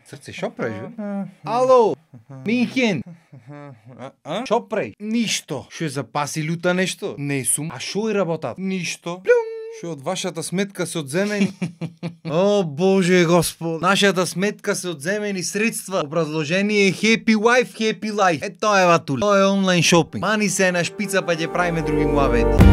Срце, шо правиш, бе? Ало, Минхен. Шо прави? Ништо. Шо е запаси люта нешто? Не сум. А шо е работат? Ништо. Шо од вашата сметка се одземени? О, Боже Господ. Нашата сметка се одземени средства. Образложение Happy Wife, Happy Life. Е, тоа е ватули. Тоа е онлайн шопинг. Мани се на шпица па ќе правиме други муабети.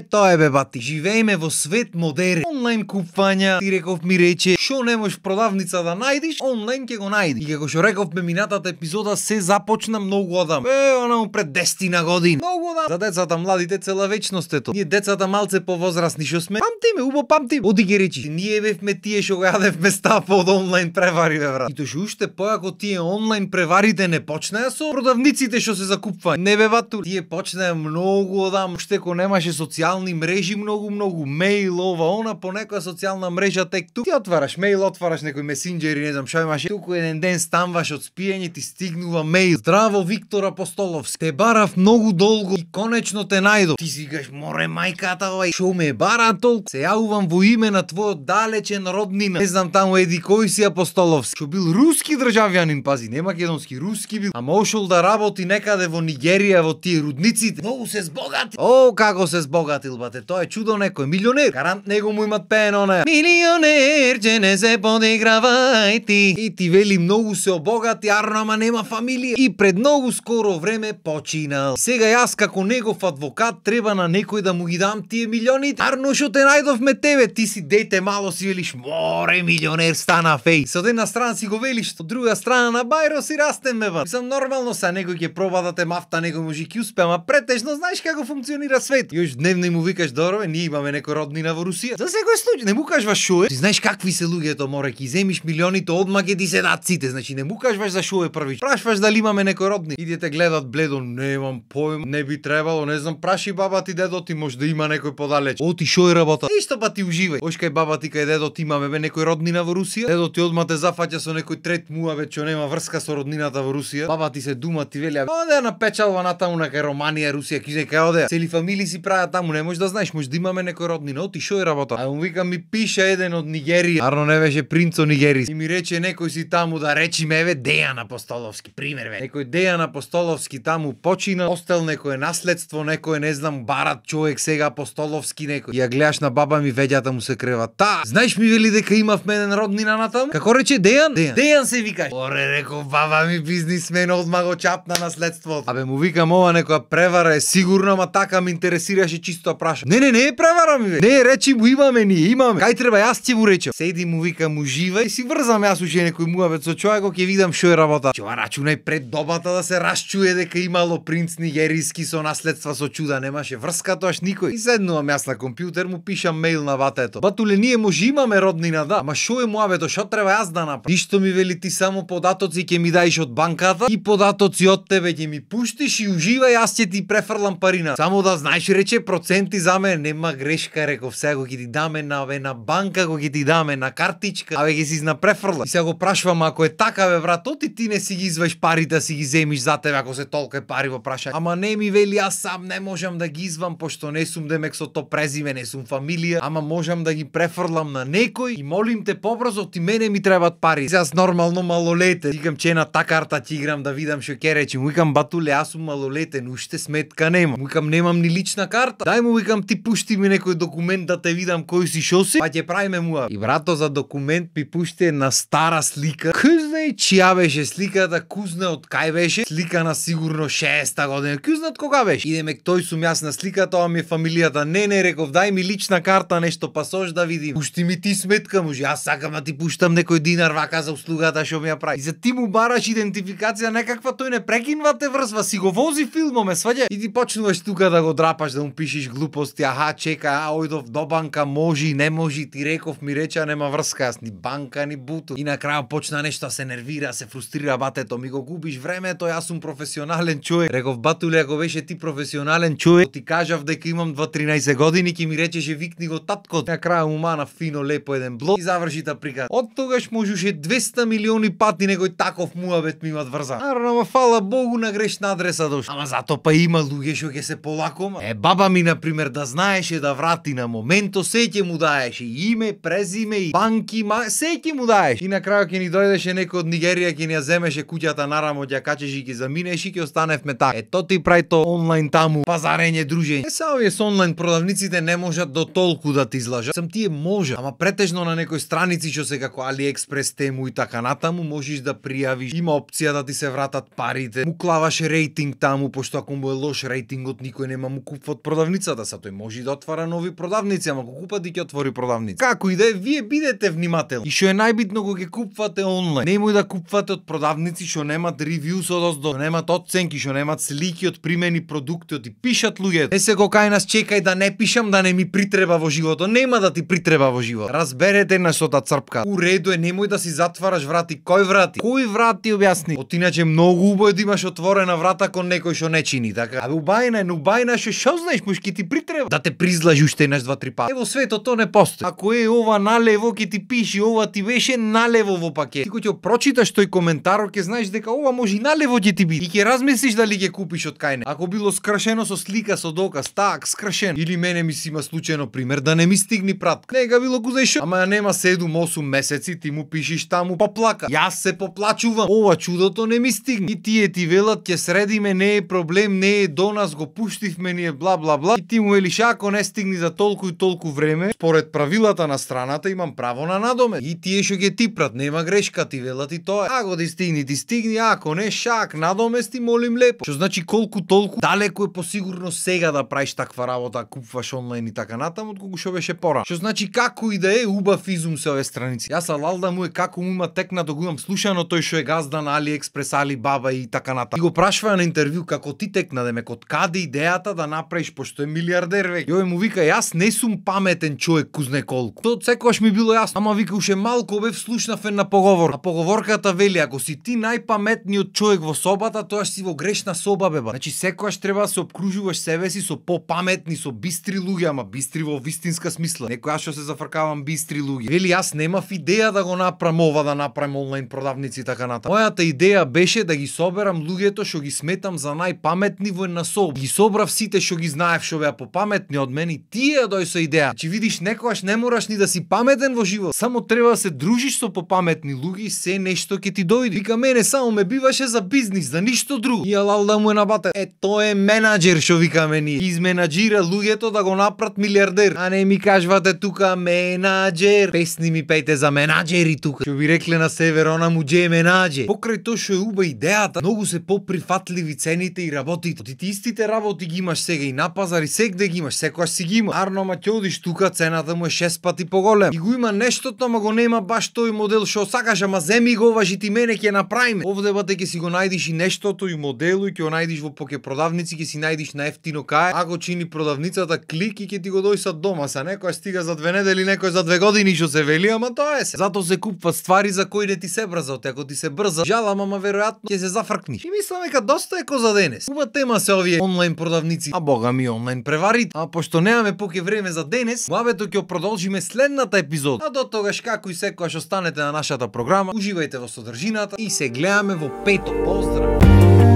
Тоа е бе бати, живееме во свет модерен. Онлайн купвања, ти реков ми рече, шо не можеш продавница да најдиш, онлайн ќе го најди. И како што рековме минатата епизода, се започна многу одам. Онамо пред 10 години. Многу одам. За децата младите цела вечност ето. Ние децата малце повозрасни што сме, памтиме, убо памтим. Оди ги речи, ние бевме тие што го јадевме стапа од онлайн превари, бе брат. И тоа што уште појако тие онлайн преварите не почнеа со продавниците што се закупваат. Не бе бату, тие почнеа многу одам, уште ко немаше социјални мрежи, многу мејл, ова, она, по некоја социјална мрежа тек ту. Ти отвараш мејл, отвараш некој месенџер и не знам што имаше. Туку еден ден станваш од спиење, ти стигнува мејл. Здраво, Виктор Апостоловски. Те барав многу долго и конечно те најдов. Ти си кажеш, море мајката, овај, шо ме бара толку? Се јавувам во име на твојот далечен роднина. Не знам таму еди кој си Апостоловски. Што бил руски државјанин, пази, не македонски, руски бил. Ама ошол да работи некаде во Нигерија, во тие рудниците. Многу се збогати. О, како се збогатил, бате, тоа е чудо некој, милионер. Гарант него му имат пеено на милионер, че не се подигравај ти. И ти вели многу се обогати, арно, ама нема фамилија. И пред многу скоро време починал. Сега јас како негов адвокат треба на некој да му ги дам тие милионите. Арно, што те најдовме тебе, ти си дете мало, си велиш, море милионер стана феј. Со една страна си го велиш, од друга страна на бајро си растеме, ба. Мислам нормално са некој ќе проба да те мафта, некој може ќе успе, ама претежно знаеш како функционира свет. Још дневно му викаш, добро, ние имаме некој роднина во Русија. За секој случај не му кажуваш шо е. Ти знаеш какви се луѓето, море, ќе земиш милионите одма ќе ти се дат сите. Значи не му кажуваш за шо е првиш. Прашваш дали имаме некој родни. Идете гледат бледо, немам поим, не би требало, не знам, праши баба ти, дедо ти, може да има некој подалеч. Оти шо е работа? Исто па ти уживај. Ош кај баба ти, кај дедо ти имаме бе некој роднина во Русија. Дедо ти одма те зафаќа со некој трет муавет што нема врска со роднината во Русија. Баба ти се дума, ти вели, оде на печалба натаму на кај Романија, Русија, киже кај оде. Цели фамилии си прават таму, не можеш да знаеш, може да имаме некој роднина. Оти шо е работа? А му вика, ми пише еден од Нигерија. Арно не беше принц од Нигерија. И ми рече некој си таму, да речи меве Дејан Апостоловски, пример ве. Некој Дејан Апостоловски таму почина, остел некој наследство, некој не знам барат човек сега Апостоловски некој. Ја гледаш на баба ми, веѓата му се крева. Та, знаеш ми вели дека имавме еден роднина натаму? Како рече Дејан? Дејан се викаш. Оре, реков баба ми, бизнисмен, одма го чапна наследството. Абе му викам, ова некоја превара е сигурно, ама така ме интересираше чисто праша. Не е превара ми ве. Не, речи му имаме ние, имаме. Кај треба јас ќе му речам. Седи му викам, уживај, си врзам јас уште некој муабет со човекот, ќе видам што е работа. Ќе рачунај пред добата да се расчуе дека имало принц нигеријски со наследства со чуда, немаше врска тоаш никој. И седнувам јас на компјутер, му пишам мејл на батето. Батуле, ние може имаме роднина, да, ама шо е муабето, што треба јас да направам? Ништо ми вели, ти само податоци ќе ми даиш од банката и податоци од тебе ќе ми пуштиш и уживај, јас ќе ти префрлам парина. Само да знаеш, рече, проценти за мене, нема грешка, реков, сега го ќе ти даме на банка, го ќе ти даме на картичка, абе ќе си на префрла. И сега го прашувам, ако е така, бе брат, оти ти не си ги изваеш парите, си ги земиш за тебе, ако се толку пари во прашање. Ама не ми вели, јас сам не можам да ги извам, пошто не сум демек со то презиме, не сум фамилија, ама можам да ги префрлам на некој и молим те побрзо, ти мене ми требат пари. Јас нормално малолетен, викам че на та карта ќе играм да видам што ќе речи. Му викам, батуле, јас сум малолетен, уште сметка нема. Му викам, немам ни лична карта. Дај му викам, ти пушти ми некој документ да те видам кој си шо си, па ќе правиме муа. И брато за документ ми пушти една стара слика. Кузне чија беше сликата, кузне од кај беше, слика на сигурно 60-та година. Кузне од кога беше? Идеме тој сум јас на сликата, ова ми е фамилијата. Не, реков, дај ми лична карта, нешто пасош да видим. Пушти ми ти сметка, може, јас сакам да ти пуштам некој динар вака за услугата што ми ја прави. И за ти му бараш идентификација некаква, тој не прекинува те врзва, си го вози филмоме, сваѓа. И ти почнуваш тука да го драпаш, да му пишеш глупости, аха, чека, ојдов до банка, може, не може, ти реков, ми рече, нема врска, јас ни банка, ни буту. И на крај почна нешто се нервира, се фрустрира, батето, ми го губиш времето, јас сум професионален човек. Реков, батуле, ако беше ти професионален човек, ти кажав дека имам 2-13 години, ќе ми речеше викни го татко. На крај му мана фино лепо еден блок и заврши та приказ. Од тогаш можеше 200 милиони пати некој таков муабет ми имат врзан. Ама фала Богу на грешна адреса дош. Ама зато па има луѓе што ќе се полакома. Баба ми на пример да знаеше да врати на моменто, се ќе му даеше име, презиме и банки, се ќе му даеше. И на крај ќе ни дојдеше некој од Нигерија, ќе ни ја земеше куќата нарамо, ќе качеш и ќе заминеш и ќе останевме така. Ето ти прави то онлайн таму пазарење, дружење. Са овие со онлайн продавниците не можат до толку да ти излажат. Сам тие може, ама претежно на некој страници што се како AliExpress, Temu и така натаму можеш да пријавиш. Има опција да ти се вратат парите. Му клаваш рейтинг таму, пошто ако му е лош рейтингот, никој нема му купува од продавницата, са тој може да отвара нови продавници, ама ако купат и ќе отвори продавници. Како и да е, вие бидете внимателни. И што е најбитно кога ќе купувате онлайн, немој да купувате од продавници што немат ревју со доздо, немат оценки, што немат слики од примени продукти, од и пишат луѓе. Не се го кај нас чекај да не пишам да не ми притреба во животот, нема да ти притреба во живот. Разберете на со та црпка. У реду е, немој да си затвараш врати. Кој врати? Кој врати објасни? Иначе многу убаво да имаш отворена врата кон некој што не чини, така. А убајна што знаеш, може ќе ти притреба да те призлажи уште еднаш 2-3 пати. Ево светот то не постои. Ако е ова налево ќе ти пиши, ова ти беше налево во пакет. Ти кога ќе прочиташ тој коментар, ќе знаеш дека ова може и налево ќе ти биде. И ќе размислиш дали ќе купиш од кај не. Ако било скрашено со слика, со доказ, так скрашен. Или мене ми си има случајно пример да не ми стигни пратка. Нега било гузајшо. Ама нема 7-8 месеци, ти му пишиш таму поплака. Јас се поплачувам. Ова чудото не ми стигне. И тие ти велат ќе средиме, не е проблем, не е до нас, го пуштивме ние бла бла бла. И ти му велиш ако не стигни за толку и толку време, според правилата на страната имам право на надомет. И тие што ќе типрат, нема грешка, ти велат и тоа. Ако ти стигни, ако не шак надомести, молим лепо. Што значи колку толку далеку е посигурно сега да правиш таква работа, купуваш онлайн и така натаму, отколку што беше порано. Што значи како и да е убав изум се овие страници. Јас алалда му е како му има текнато, го имам слушано тој што е газда на AliExpress, Alibaba и така натаму. И го прашува на интервју како ти текна да ме код каде идејата да направиш пошто е милиардер веќе. Јој му вика јас не сум паметен човек кузне колку. Тоа секогаш ми било јасно. Ама вика уште малку бев слушнав една поговор. А поговорката вели ако си ти најпаметниот човек во собата, тоа си во грешна соба беба. Значи секогаш треба да се опкружуваш себе си со попаметни, со бистри луѓе, ама бистри во вистинска смисла. Некој што се зафркавам бистри луѓе. Вели јас немав идеја да го направам ова, да направам онлайн продавници и така натаму. Мојата идеја беше да ги соберам луѓето што ги сметам за најпаметни во една соба. Ги собрав сите што ги знаев што беа попаметни од мене и тие дој со идеја. Че видиш некогаш не мораш ни да си паметен во живот. Само треба да се дружиш со попаметни луѓе и се нешто ќе ти дојде. Вика мене само ме биваше за бизнис, за ништо друго. И алал да му е набата. Тоа е менаџер што викаме ние. Изменаџира луѓето да го направат милиардер. А не ми кажвате тука менаџер. Песни ми пејте за менаџери тука. Што ви рекле на север, она му дже менаџер. Покрај тоа што е уба идејата, многу се поприфатливи цените и работите. Ти истите работи ги имаш сега и на пазар и сегде ги имаш, секогаш си ги има. Арно ма ќе одиш тука, цената му е 6 пати поголема. И го има нештото, ама го нема баш тој модел што сакаш, ама земи го важи ти мене ќе направиме. Овде бате ќе си го најдиш и нештото и моделу и ќе го најдиш во поке продавници, ќе си најдиш на ефтино кај. Ако чини продавницата клик и ќе ти го дојсат дома, са некој стига за 2 недели, некој за 2 години што се вели, ама тоа е се. Зато се купуваат ствари за кои не ти се брзат. Ако ти се брза, жалам, ама веројатно ќе се зафркниш. И мислам дека доста е за денес. Уба тема се овие онлайн продавници, а бога ми онлайн преварите. А пошто немаме поке време за денес, муабето ќе продолжиме следната епизода. А до тогаш како и секогаш останете на нашата програма, уживајте во содржината и се гледаме во пето. Поздрав!